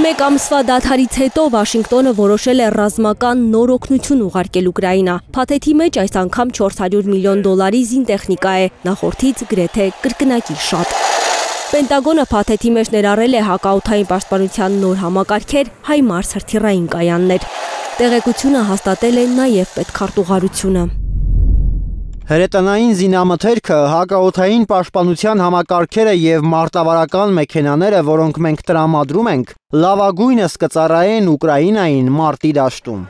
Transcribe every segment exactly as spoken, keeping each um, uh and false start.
Մեկ ամսվա դադարից հետո Վաշինգտոնը որոշել է ռազմական նոր օգնություն ուղարկել Ուկրաինա։ Փաթեթի մեջ այս անգամ չորս հարյուր միլիոն դոլարի զինտեխնիկա է, նախորդից գրեթե կրկնակի շատ։ Պենտագոնը փաթեթի մեջ ներառել է հակաօդային պաշտպանության նոր համակարգեր, հայմարս հրթիռային կայաններ։ Տեղեկությունը հաստատել է նաև պետքարտուղարությունը։ Հրետանային զինամթերքը, հակաօդային պաշտպանության համակարգերը և մարտավարական մեքենաները, որոնք մենք տրամադրում ենք, լավագույնս կծառայեն Ուկրաինային մարտի դաշտում։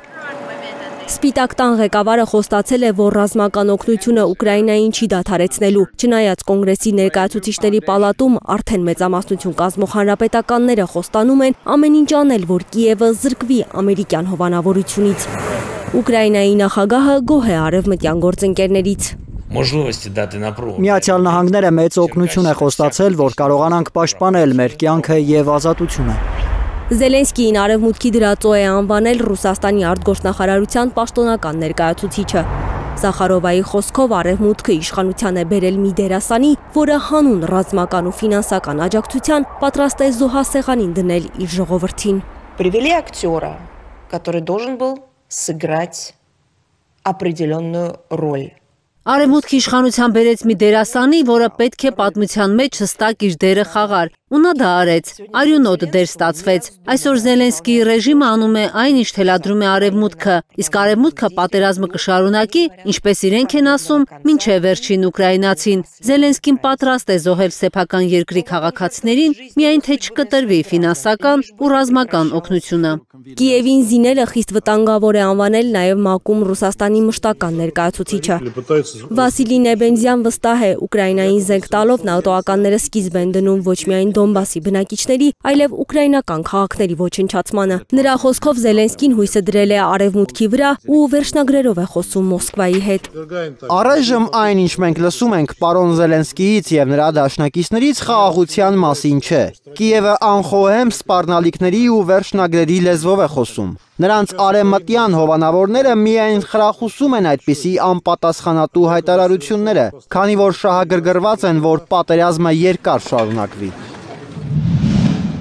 Սպիտակ տան ղեկավարը խոստացել է, որ ռազմական օգնությունը Ուկրաինային չի դադարեցնելու, չնայած կոնգրեսի ներկայացուցիչների պալատում արդեն մեծամասնություն կազմող հանրապետականները խոստանում են ամեն ինչ անել, որ Կիևը զրկվի ամերիկյան հովանավորությունից։ Ուկրաինայի նախագահը գոհ է արևմտյան գործընկերներից։ Միացյալ Նահանգները մեծ օգնություն է խոստացել, որ կարողանանք պաշտպանել մեր կյանքը և ազատությունը։ Զելենսկիին արևմուտքի դրածո է անվանել Ռուսաստանի արտգործնախարարության պաշտոնական ներկայացուցիչը։ Զախարովայի խոսքով արևմուտքը իշխանության է բերել մի դերասանի, որը հանուն ռազմական ու ֆինանսական աջակցության պատրաստ է զոհասեղանին դնել իր ժողովրդին։ Привели актера, который должен был сыграть определенную роль. Արևմուտքի իշխանության բերեց մի դերասանի, որը պետք է պատմության մեջ հստակ իր դերը խաղար, ու նա դա արեց, արյունոտ դեր ստացվեց։ Այսօր Զելենսկիի ռեժիմը անում է այն, ինչ թելադրում է արևմուտքը, իսկ արևմուտքը պատերազմը կշարունակի, ինչպես իրենք են ասում, մինչև վերջին ուկրաինացին։ Զելենսկին պատրաստ է զոհել սեփական երկրի քաղաքացիներին, միայն թե չկտրվի ֆինանսական ու ռազմական օգնությունը։ Կիևին զինելը խիստ վտանգավոր է անվանել նաև ՄԱԿ-ում Ռուսաստանի մշտական ներկայացուցիչը։ Վասիլի Նեբենզյան վստահ է, Ուկրաինային զենք տալով նատոականները սկիզբ են դնում ոչ միայն Դոնբասի բնակիչների, այլև ուկրաինական քաղաքների ոչնչացմանը։ Նրա խոսքով Զելենսկին հույսը դրել է արևմուտքի վրա ու վերջնագրերով է խոսում Մոսկվայի հետ։ Առայժմ այն, ինչ մենք լսում ենք պարոն Զելենսկիից և նրա դաշնակիցներից, խաղաղության մասին չէ։ Կիևը անխոհեմ սպառնալիքների ու վերջնագրերի լեզվով է խոսում։ Նրանց արևմտյան հովանավորները միայն խրախուսում են այդպիսի անպատասխանատու հայտարարությունները, քանի որ շահագրգռված են, որ պատերազմը երկար շարունակվի։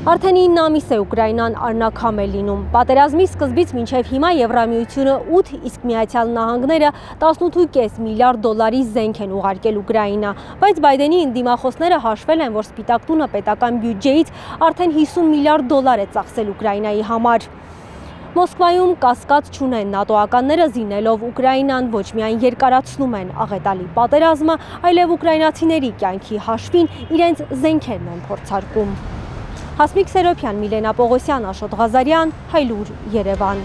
Արդեն ինը ամիս է Ուկրաինան առնաքամ է լինում։ Պատերազմի սկզբից մինչև հիմա Եվրամիությունը ութ, իսկ Միացյալ Նահանգները տասնութ ու կես միլիարդ դոլարի զենք են ուղարկել Ուկրաինա, բայց Բայդենի ընդդիմախոսները հաշվել են, որ Սպիտակ տունը պետական բյուջեից արդեն հիսուն միլիարդ դոլար է ծախսել Ուկրաինայի համար։ Մոսկվայում կասկած չունեն, նատոականները զինելով Ուկրաինան ոչ միայն երկարացնում են աղետալի պատերազմը, այլև ուկրաինացիների կյանքի հաշվին իրենց զենքերն են փորձարկում։ Հասմիկ Սերոփյան, Միլենա Պողոսյան, Աշոտ Ղազարյան, Հայլուր, Երևան։